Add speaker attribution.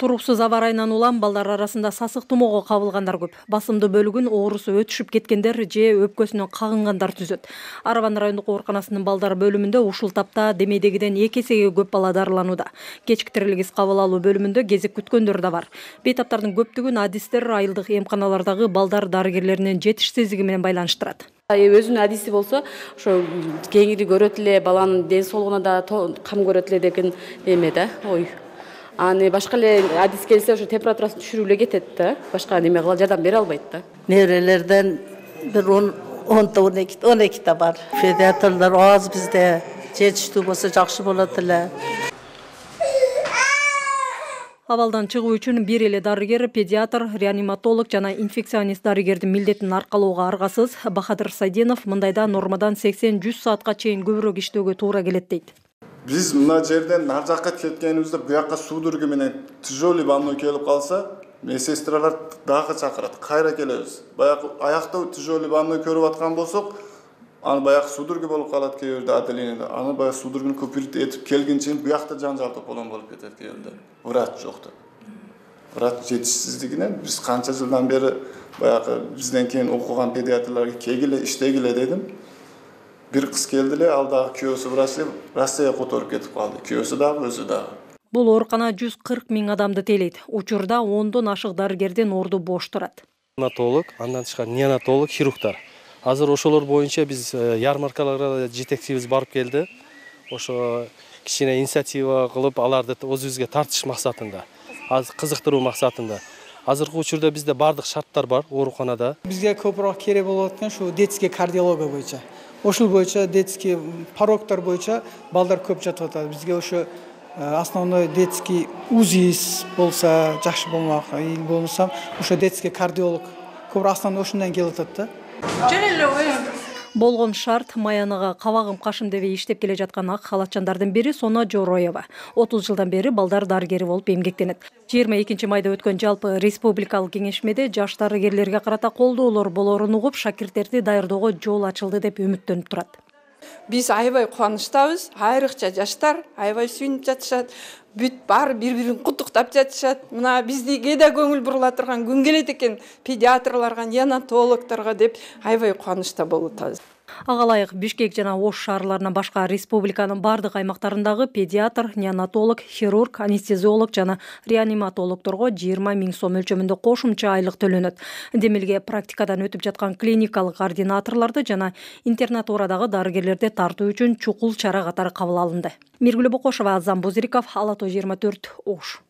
Speaker 1: Туруксуз аба ырайынан улам балдар арасында сасык тумоого кабылгандар көп. Басымдуу бөлүгүн оорусу өтүшүп кеткендер же өпкөсүнөн кагынгандар түзөт. Арабан райондук ооруканасынын балдар бөлүмүндө ушул тапта демейдегиден 2 эсеге көп бала дарыланууда. Кечки тирилгис кабыл алуу бөлүмүндө кезек күткөндөр да бар. Бейтаптардын көптүгүн адистер айылдык эмканалардагы балдар дарыгерлеринин жетишсиздиги менен байланыштырат.
Speaker 2: Өзүнүн адиси болсо, ошо кеңири көрөт эле, баланын ден соолугуна да кам көрөт эле деген эме да, ой. Аны башка эле адис келсе, ошо температурасын түшүрүп эле кетет да. Башка неме кыла жардам бере албайт да.
Speaker 3: Неберелерден бир 10-12 бар. Педиатрлар аз бизде. Жетиштүү болсо жакшы болот эле.
Speaker 1: Абалдан чыгуу үчүн бир эле дарыгер, педиатр, реаниматолог жана инфекционист дарыгердин милдетин аркалоого аргасыз. Бахадыр Сайденов мындайда нормадан 80-100 саатка чейин көбүрөөк иштөөгө туура келет дейт.
Speaker 4: Биз мына жерден ар жакка кеткенибизде буяка судорога менен тяжелый больной келип калса, медсестралар дагы чакырат. Кайра келебиз. Баягы аякта тяжелый больной көрүп аткан болсок, аны баягы судорога болуп калат кээ бирде отделениеде. Аны баягы судороганы көпүрүп этип келгенче буякта жанжал тополон болуп кетет кээ бирде. Врач жок деп. Врач жетишсиздигинен биз канча жылдан бери баягы бизден кийин окуган педиатрларга кегиле, иштегиле дедим. Бир кыз келди эле, ал дагы күйөөсү врач деп Россияга которуп кетип калды. Күйөөсү дагы, өзү дагы.
Speaker 1: Бул оорукана 140 000 адамды тейлейт. Учурда 10дон ашык дарыгердин орду бош турат.
Speaker 5: Неонатолог, андан тышкары неонатолог, хирургдар. Азыр ошолор боюнча биз ярмаркаларга жетекчибиз барып келди. Ошо кичине инициатива кылып, аларды өзүбүзгө тартыш максатында, азыр кызыктыруу максатында. Азыркы учурда бизде бардык шарттар бар ооруканада.
Speaker 6: Бизге көбүрөөк керек болуп аткан ушу детский кардиология боюнча. Ошол боюнча детский порогтор боюнча балдар көп жатып атат. Бизге ошо основной детский УЗИ болсо жакшы болмак, или болмосо ошо детский кардиолог көбүрөөк основной ошондон келип атат да.
Speaker 1: Болгон шарт Маянага кабагым кашым дебей иштеп келе жаткан ак халатчандардын бири Сона Жороева. 30 жылдан бери балдар дарыгери болуп эмгектенет. 22 майда өткөн жалпы республикалык кеңешмеде жаш дарыгерлерге карата колдоолор болорун угуп, шакирттерди даярдоого жол ачылды деп үмүттөнүп турат.
Speaker 7: Биз аябай кубанычтабыз, айрыкча жаштар аябай сүйүнүп жатышат. Бүт баары бири-бирин куттуктап жатышат. Мына биздиге да көңүл бурула турган күн келет экен, педиатрларга, неонатологторго деп аябай кубанычта болуп атабыз.
Speaker 1: Ага ылайык Бишкек жана Ош шаарларынан башка республиканын бардык аймактарындагы педиатр, неонатолог, хирург, анестезиолог жана реаниматологторго 20 000 сом өлчөмүндө кошумча айлык төлөнөт. Демилге практикадан өтүп жаткан клиникалык координаторлорду жана интернатурадагы дарыгерлерди тартуу үчүн чукул чара катары кабыл алынды. Миргүл Бокошова, Азам Бузириков, Ала Тоо 24, Ош.